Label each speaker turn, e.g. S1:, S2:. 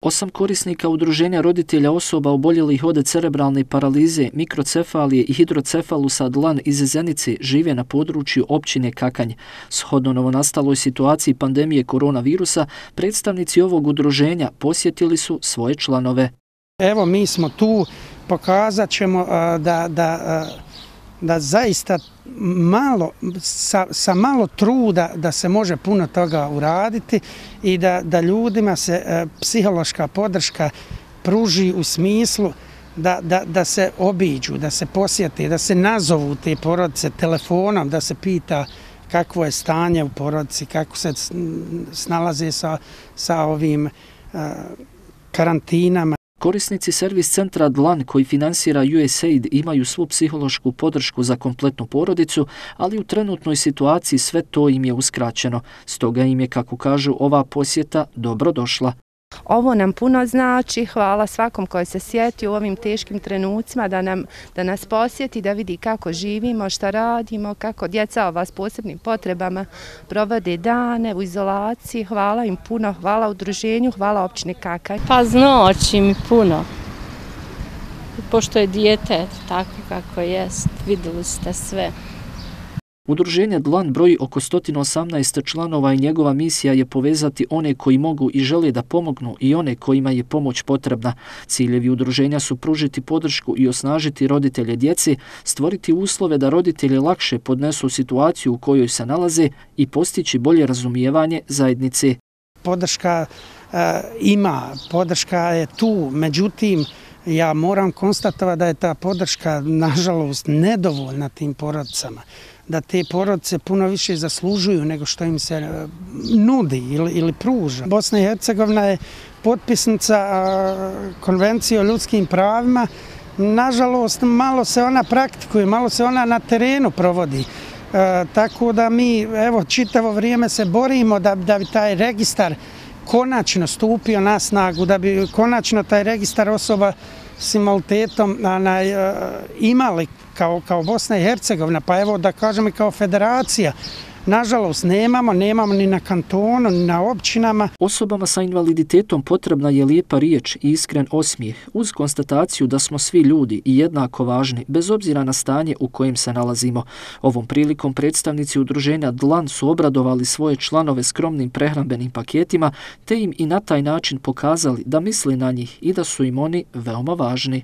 S1: 8 korisnika udruženja roditelja osoba oboljelih od cerebralne paralize, mikrocefalije i hidrocefalusa dlan iz Zenice žive na području općine Kakanj. Shodno novonastaloj situaciji pandemije koronavirusa, predstavnici ovog udruženja posjetili su svoje članove.
S2: Evo, mi smo tu, pokazat ćemo da zaista sa malo truda da se može puno toga uraditi i da ljudima se psihološka podrška pruži u smislu da se obiđu, da se posjete, da se nazovu te porodice telefonom, da se pita kakvo je stanje u porodici, kako se snalaze sa ovim karantinama.
S1: Korisnici servis centra Dlan koji finansira USAID imaju svu psihološku podršku za kompletnu porodicu, ali u trenutnoj situaciji sve to im je uskraćeno. Stoga im je, kako kažu, ova posjeta dobro došla.
S3: Ovo nam puno znači, hvala svakom koji se sjeti u ovim teškim trenucima da nas posjeti, da vidi kako živimo, šta radimo, kako djeca ova s posebnim potrebama provode dane u izolaciji. Hvala im puno, hvala udruženju, hvala općini Kakanj.
S4: Pa znači mi puno, pošto je dijete tako kako jest, vidjeli ste sve.
S1: Udruženje Dlan broji oko 118 članova i njegova misija je povezati one koji mogu i žele da pomognu i one kojima je pomoć potrebna. Ciljevi udruženja su pružiti podršku i osnažiti roditelje djeci, stvoriti uslove da roditelji lakše podnesu situaciju u kojoj se nalaze i postići bolje razumijevanje zajednice.
S2: Podrška podrška je tu, međutim, ja moram konstatovati da je ta podrška, nažalost, nedovoljna tim porodicama. Da te porodice puno više zaslužuju nego što im se nudi ili pruža. Bosna i Hercegovina je potpisnica Konvencije o ljudskim pravima. Nažalost, malo se ona praktikuje, malo se ona na terenu provodi. Tako da mi, evo, čitavo vrijeme se borimo da bi taj registar konačno stupio na snagu, da bi konačno taj registar osoba s invaliditetom imali kao Bosna i Hercegovina, pa evo da kažem i kao federacija. Nažalost, nemamo ni na kantonu, ni na općinama.
S1: Osobama sa invaliditetom potrebna je lijepa riječ i iskren osmijeh, uz konstataciju da smo svi ljudi i jednako važni, bez obzira na stanje u kojem se nalazimo. Ovom prilikom predstavnici udruženja Dlan su obradovali svoje članove skromnim prehrambenim paketima, te im i na taj način pokazali da misle na njih i da su im oni veoma važni.